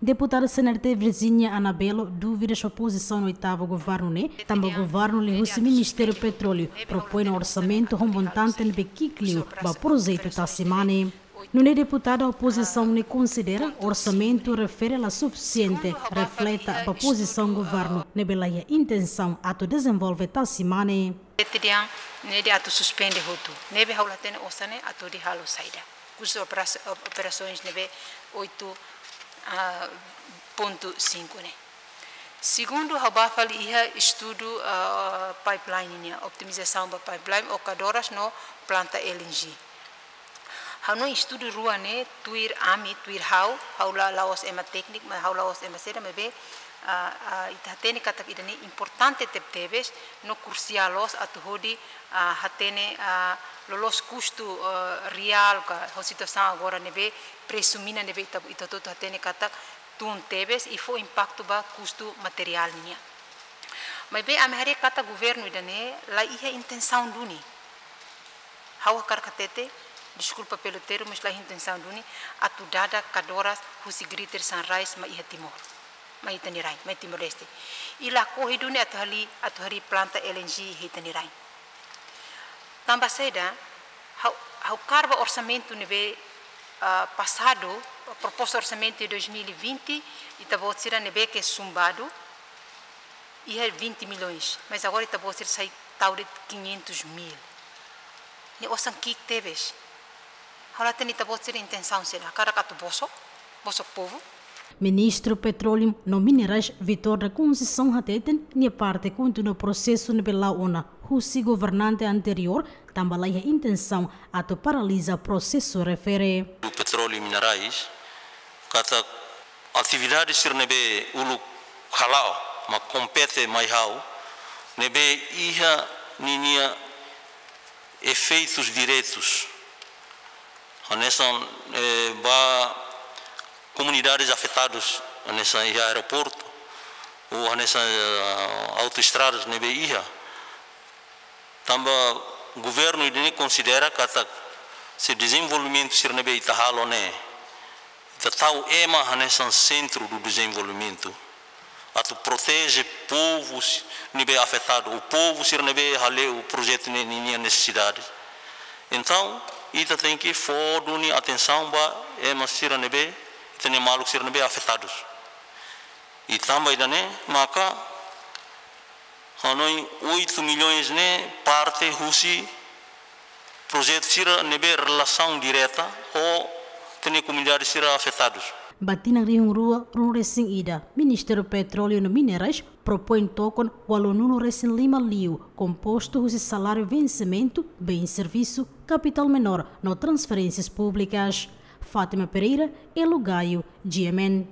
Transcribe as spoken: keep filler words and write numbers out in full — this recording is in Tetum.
Deputada C N R T Virginia Anabelo dúvidas ba pozisaun oitavu governu ne'e, tanba governu liuhusi Ministériu Petróleu propoin orsamentu ho montante ne'ebé ki'ik liu ba projetu Tasimane. Nune'e deputada opozisaun ne'e konsidera orsamentu refere la sufisiente refleta ba pozisaun governu ne'ebé la iha intensaun atu dezenvolve Tasimane. Ete dian ne'e atu suspende hotu. Ne'ebé ha'u la hatene osan ne'e atu hodi halo saida. Kustu operas-, op-, operasoens ne'ebé oito, ah, ponto cinco ne'e. Segundu, ha'u bá fali iha estudu, ah, pipeline nian, otimizasaun ba pipeline, Ocadoras no planta L N G. Ha'u hanoin estudu rua ne'e, tuir ami, tuir ha'u, ha'u la, la'ós ema tékniku, mas ha'u la'ós ema saida, maibé, ah, ah, ita hatene katak ida-ne'e importante tebetebes, no krusiál loos atu hodi, ah, hatene, ah, loloos kustu, ah, reál ka, ho situasaun agora ne'ebé, presu mina ne'ebé ita, ita hotu-hotu hatene katak tun tebes i fó impaktu ba kustu materiál nian. Maibé ami haree katak governu ida-ne'e la iha intensaun duni. Ha'u hakarak hatete, deskulpa pelu termu, mas la iha intensaun duni atu dada Ocadoras husi Greater Sunrise mai iha Timor, mai ita-nia rain, mai Timor-Leste. I lakohi duni atu harii, atu harii planta L N G iha ita-nia rain. Tanba saida, ha'u, ha'u kaer ba orsamentu ne'ebé, ah, pasadu, proposta orsamentu de dois mil e vinte, ita-boot sira ne'ebé ke sumbadu, iha vinte milhões, mas agora ita-boot sira sai tau de'it quinhentos mil. Ne'e osan ki'ik tebes. Ha'u la hatene ita-boot sira intensaun saida, hakarak atu bosok, bosok povu. Ministru Petróleu no Minerais Vitor da Conceição hateten, nia parte kontinua prosesu ne'ebé la'o ona husi governante anteriór, tanba la iha intensaun atu paraliza prosesu refere. Petróleu i Minerais, katak atividade sira ne'ebé uluk hala'o, mak kompete mai ha'u, ne'ebé iha ninia efeitus diretus. Hanesan, eh, ba komunidades afetadus, hanesan iha aeroportu, ou hanesan, eh, autoestradas ne'ebé iha. Tanba governu ida-ne'e konsidera katak se dezenvolvimentu sira ne'ebé ita halo ne'e, ita tau ema hanesan sentru do dezenvolvimentu, atu proteje povu si-, ne'ebé afetadu, ou povu sira ne'ebé hale'u projetu ne'e ninia nesesidade. Entaun, ita tenke fó duni atensaun ba ema sira ne'ebé, ita-nia maluk sira ne'ebé afetadus. I tanba ida-ne'e, maka hanoin oito milhões ne'e parte husi projetu sira ne'ebé relasaun direta ho ita-nia komunidade sira afetadus. Ba tinan rihun rua ruanulu-resin-ida, Ministériu Petróleu no Minerais propoin tokon ualunulu-resin-lima liu, kompostu husi saláriu vensimentu, bens servisu, kapitál menór no transferénsias públikas. Fátima Pereira, Elo Gaio, G M N.